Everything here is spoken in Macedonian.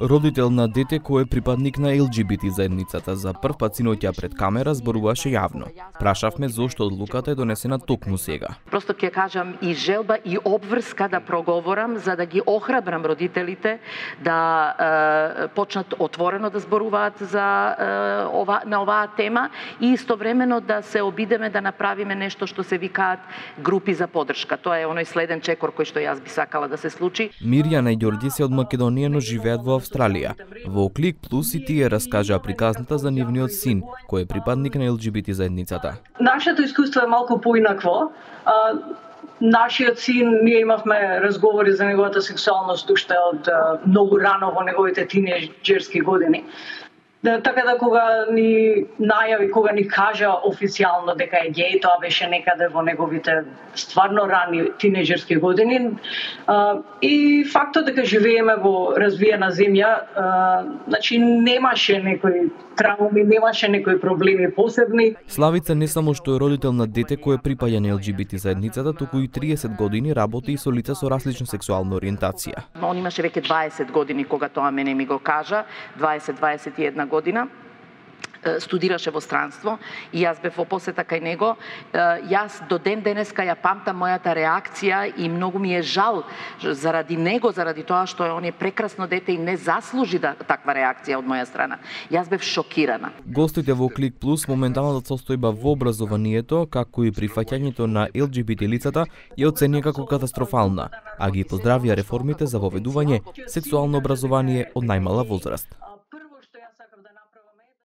Родител на дете кој е припадник на ЛГБТ заедницата за прв пат синоќа пред камера зборуваше јавно. Прашавме зошто одлуката е донесена токму сега. Просто ќе кажам и желба и обврска да проговорам за да ги охрабрам родителите да почнат отворено да зборуваат за на оваа тема и истовремено да се обидеме да направиме нешто што се викаат групи за поддршка. Тоа е оној следен чекор кој што јас би сакала да се случи. Мирјана и Ѓорѓи се од Македонија, но живеат во Австралија. Во Клик Плюс и тие раскажаа приказната за нивниот син, кој е припадник на ЛГБТ заедницата. Нашето искуство е малку поинакво. Нашиот син, ние имавме разговори за неговата сексуалност уште од многу рано во неговите тинејџерски години. Така да кога ни најави, кога ни кажа официјално дека е геј, тоа беше некаде во неговите стварно рани тинејџерски години. И фактот дека живееме во развиена земја, значи немаше некои трауми, немаше некои проблеми посебни. Славица не само што е родител на дете кој е припаѓа на ЛГБТ заедницата, туку и 30 години работи и со лица со различна сексуална ориентација. Он имаше веќе 20 години кога тоа мене ми го кажа, 20-21 година. Студираше во странство и јас бев во посета кај него. Јас до ден денеска ја памтам мојата реакција и многу ми е жал заради него, заради тоа што он е прекрасно дете и не заслужи таква реакција од моја страна. Јас бев шокирана. Гостите во Клик Плюс моменталната состојба во образованието, како и прифаќањето на ЛГБТ лицата, ја оценија како катастрофална, а ги поздравија реформите за воведување сексуално образование од најмала возраст.